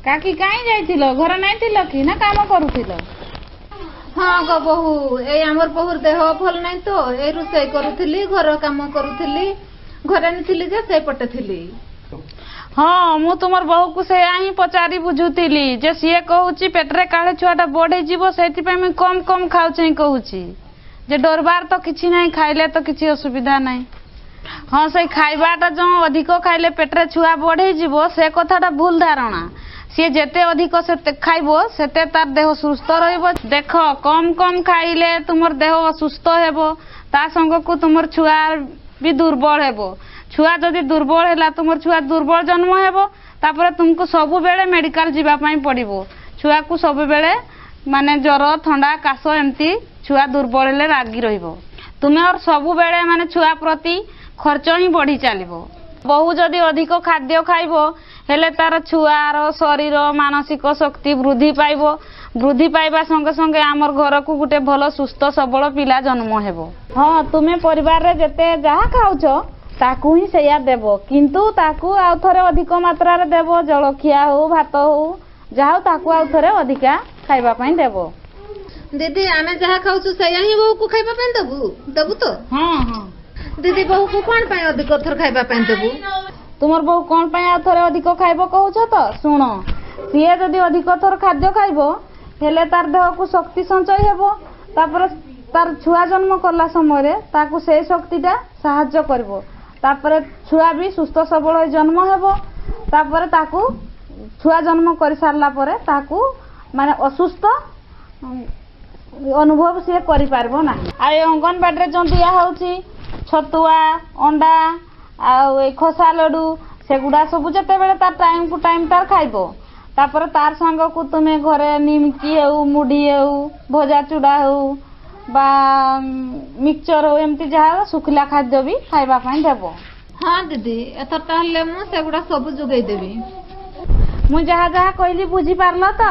କାକି କାଇଁ ଯାଇଥିଲ? ଘରେ ନାଇଁ ଥିଲ କି ନା କାମ କରୁଥିଲ? ହଁ ଗୋ ବୋହୁ, ଏଇ ଆମର ବୋହୁର ଦେହ ଭଲ ନାହିଁ ତ, ଏଇ ରୋଷେଇ କରୁଥିଲି, ଘର କାମ କରୁଥିଲି। ଘରେ ଥିଲି ଯେ ସେଇପଟେ ଥିଲି। ହଁ, ମୁଁ ତୁମର ବୋହୂକୁ ସେଇଆ ହିଁ ପଚାରି ବୁଝୁଥିଲି ଯେ ସିଏ କହୁଛି ପେଟରେ କାଳେ ଛୁଆଟା ବଢିଯିବ, ସେଇଥିପାଇଁ ମୁଇଁ କମ କମ ଖାଉଛେ କହୁଛି। ଯେ ଡରବାର ତ କିଛି ନାହିଁ, ଖାଇଲେ ତ କିଛି ଅସୁବିଧା ନାହିଁ। ହଁ, ସେଇ ଖାଇବାଟା ଯେଉଁ ଅଧିକ ଖାଇଲେ ପେଟରେ ଛୁଆ ବଢେଇଯିବ, ସେ କଥାଟା ଭୁଲ ଧାରଣା। ସିଏ ଯେତେ ଅଧିକ ସେତେ ଖାଇବ, ସେତେ ତାର ଦେହ ସୁସ୍ଥ ରହିବ। ଦେଖ, କମ କମ ଖାଇଲେ ତୁମର ଦେହ ଅସୁସ୍ଥ ହେବ, ତା ସାଙ୍ଗକୁ ତୁମର ଛୁଆ ବି ଦୁର୍ବଳ ହେବ। ଛୁଆ ଯଦି ଦୁର୍ବଳ ହେଲା, ତୁମର ଛୁଆ ଦୁର୍ବଳ ଜନ୍ମ ହେବ, ତାପରେ ତୁମକୁ ସବୁବେଳେ ମେଡିକାଲ ଯିବା ପାଇଁ ପଡ଼ିବ। ଛୁଆକୁ ସବୁବେଳେ ମାନେ ଜ୍ୱର, ଥଣ୍ଡା, କାଶ ଏମିତି ଛୁଆ ଦୁର୍ବଳ ହେଲେ ଲାଗି ରହିବ। ତୁମର ସବୁବେଳେ ମାନେ ଛୁଆ ପ୍ରତି ଖର୍ଚ୍ଚ ହିଁ ବଢି ଚାଲିବ। ବୋହୂ ଯଦି ଅଧିକ ଖାଦ୍ୟ ଖାଇବ, ହେଲେ ତାର ଛୁଆର ଶରୀର ମାନସିକ ଶକ୍ତି ବୃଦ୍ଧି ପାଇବ। ବୃଦ୍ଧି ପାଇବା ସଙ୍ଗେ ସଙ୍ଗେ ଆମର ଘରକୁ ଗୋଟେ ଭଲ ସୁସ୍ଥ ସବଳ ପିଲା ଜନ୍ମ ହେବ। ହଁ, ତୁମେ ପରିବାରରେ ଯେତେ ଯାହା ଖାଉଛ ତାକୁ ହିଁ ସେଇଆ ଦେବ, କିନ୍ତୁ ତାକୁ ଆଉ ଥରେ ଅଧିକ ମାତ୍ରାରେ ଦେବ। ଜଳଖିଆ ହଉ, ଭାତ ହଉ, ଯାହା ହଉ, ତାକୁ ଆଉ ଥରେ ଅଧିକା ଖାଇବା ପାଇଁ ଦେବ। ଦିଦି, ଆମେ ଯାହା ଖାଉଛୁ ସେଇଆ ହିଁ ବୋହୂକୁ ଖାଇବା ପାଇଁ ଦବୁ, ଦବୁ ତ? ହଁ। ଦିଦି, ବୋହୂକୁ କଣ ପାଇଁ ଅଧିକ ଥର ଖାଇବା ପାଇଁ ଦବୁ? ତୁମର ବୋହୂ କଣ ପାଇଁ ଆଉ ଥରେ ଅଧିକ ଖାଇବ କହୁଛ ତ? ଶୁଣ, ସିଏ ଯଦି ଅଧିକ ଥର ଖାଦ୍ୟ ଖାଇବ, ହେଲେ ତାର ଦେହକୁ ଶକ୍ତି ସଞ୍ଚୟ ହେବ। ତାପରେ ତାର ଛୁଆ ଜନ୍ମ କଲା ସମୟରେ ତାକୁ ସେଇ ଶକ୍ତିଟା ସାହାଯ୍ୟ କରିବ। ତାପରେ ଛୁଆ ବି ସୁସ୍ଥ ସବଳ ହୋଇ ଜନ୍ମ ହେବ। ତାପରେ ତାକୁ ଛୁଆ ଜନ୍ମ କରିସାରିଲା ପରେ ତାକୁ ମାନେ ଅସୁସ୍ଥ ଅନୁଭବ ସିଏ କରିପାରିବ ନାହିଁ। ଆଉ ଏ ଅଙ୍ଗନବାଡ଼ିରେ ଯେଉଁ ଦିଆ ହେଉଛି ଛତୁଆ, ଅଣ୍ଡା ଆଉ ଏଇ ଖସା ଲଡୁ, ସେଗୁଡ଼ା ସବୁ ଯେତେବେଳେ ତାର ଟାଇମ୍ କୁ ଟାଇମ୍ ତାର ଖାଇବ, ତାପରେ ତାର ସାଙ୍ଗକୁ ତୁମେ ଘରେ ନିମକି ହେଉ, ମୁଢ଼ି ହେଉ, ଭଜା ଚୁଡ଼ା ହେଉ ବା ମିକ୍ସଚର ହଉ, ଏମିତି ଯାହା ଶୁଖିଲା ଖାଦ୍ୟ ବି ଖାଇବା ପାଇଁ ଦେବ। ହଁ ଦିଦି, ଏଥର ତାହେଲେ ମୁଁ ସେଗୁଡ଼ା ସବୁ ଯୋଗେଇ ଦେବି। ମୁଁ ଯାହା ଯାହା କହିଲି ବୁଝିପାରିଲ ତ?